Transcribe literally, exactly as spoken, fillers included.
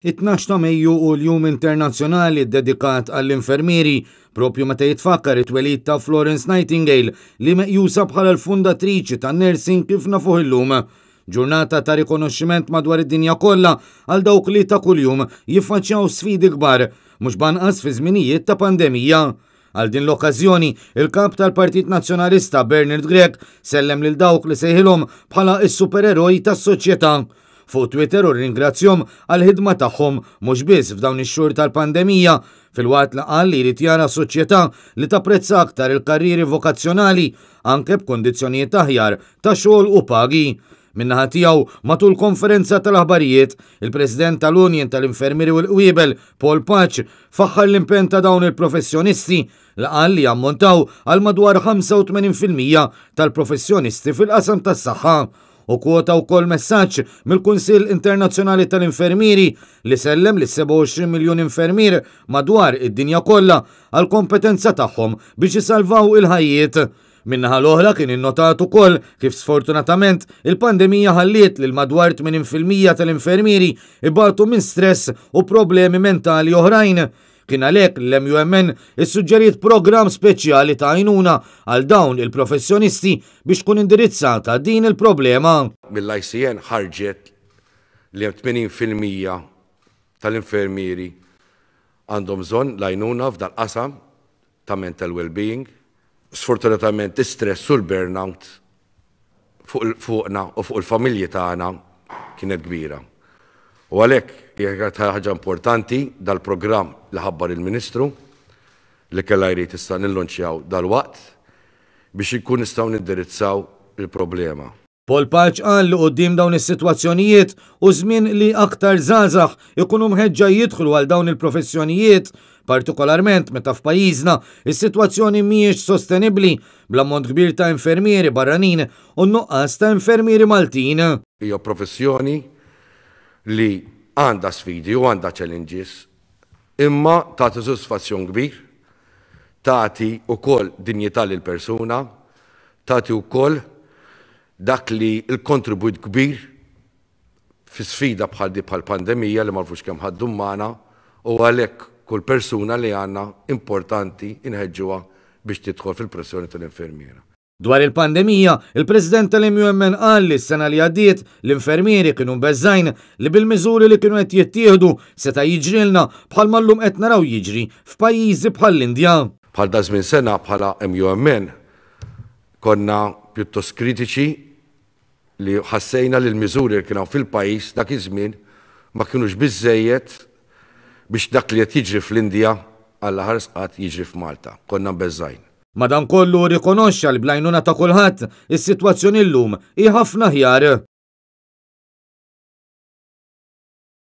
It-tnax ta' Mejju hu l-Jum Internazzjonali ddedikat għall-infermieri, propju meta jitfakkar it-twelid ta' Florence Nightingale li meqjusa bħala l-fundatriċi tan-nursing kif nafuh illum. Ġurnata ta' rikonoxximent madwar id-dinja kollha għal dawk li ta' kuljum jiffaċċjaw sfidi kbar, mhux banqas fi żminijiet ta' pandemija. Għal din l-okkażjoni, il-kap tal-Partit Nazzjonalista Bernard Grech sellem lil dawk li sejħilhom bħala s-supereroj tas-soċjetà. Fuq Twitter u rringrazzjahom għall-ħidma tagħhom mhux biss f'dawn ix-xhur tal-pandemija, filwaqt li qal li jrid jara soċjetà li tapprezza aktar il-karrieri vokazzjonali anke b'kundizzjonijiet aħjar ta' xogħol u pagi. Min-naħa tiegħu, matul konferenza tal-aħbarijiet, il-President tal-Union tal-Infermieri u l-Qwiebel, Paul Pace, faħħar l-impenn ta' dawn il-professjonisti li qal li jammontaw għal madwar ħamsa u tmenin fil-mija tal-professjonisti fil-qasam tas-saħħa u kwota wkoll messaġġ mill-Kunsill Internazzjonali tal-Infermieri li sellem li sebgħa u għoxrin miljun infermier madwar id-dinja kollha għal kompetenza tagħhom biex isalvaw il-ħajjiet. Min-naħa l-oħra kien innotat ukoll kif sfortunatament il-pandemija ħalliet lil madwar tmenin fil-mija tal-infermieri ibatu minn stress u problemi mentali oħrajn. Kien għalhekk l-M U M N issuġġeriet programm speċjali ta' għajnuna għal dawn il-professjonisti biex tkun indirizzata din il-problema. Mill-I C N ħarġet li hemm tmenin fil-mija tal-infermieri għandhom bżonn l-għajnuna f'dal qasam ta' mental well-being. Sfortunatament, stress u l-burnout fuqna u fuq il-familji tagħna kienet kbira. U għalhekk hija ħaġa importanti dal-programm li ħabbar il-Ministru li kella jrid issa nillonċjaw dal-waqt biex inkun nistgħu nindirizzaw il-problema. Paul Pace qal li quddiem dawn is-sitwazzjonijiet u żmien li aktar żgħażagħ ikunu mħeġġa jidħlu għal dawn il-professjonijiet, partikolarment meta f'pajjiżna is-sitwazzjoni mhijiex sostenibbli bl-ammont kbir ta' infermieri barranin u nuqqas ta' infermieri Maltin. Hija professjoni li għandha sfidi u għandha challenges, imma tagħti sodisfazzjon kbir, tagħti wkoll dinjità lil persuna, tagħti wkoll dak li l-kontribut kbir fi sfida bħal di, bħal pandemija li ma nafux kemm ħa ddum magħna, u għalhekk kull persuna li għandna importanti inħeġġuha biex tidħol fil-professjoni tal-infermiera. Dwar il-pandemija, il-President tal-M U M N qal li s-sena li għaddiet l-infermieri kienu mbeżżgħin li bil-miżuri li kienu qed jittieħdu seta' jiġrilna bħalma llum qed naraw jiġri f'pajjiżi bħall-Indja. Bħal da żmien sena, bħala M U M N konna pjuttost kritiċi li ħassejna li l-miżuri li kienu fil-pajjiż dak iż-żmien ma kienux biżejjed biex dak li qed jiġri fl-Indja għalla ħares qatt jiġri f'Malta. Konna mbeżżgħin. Madankollu rikonoxxa li bl-għajnuna ta' kulħadd is-sitwazzjoni llum hi ħafna aħjar.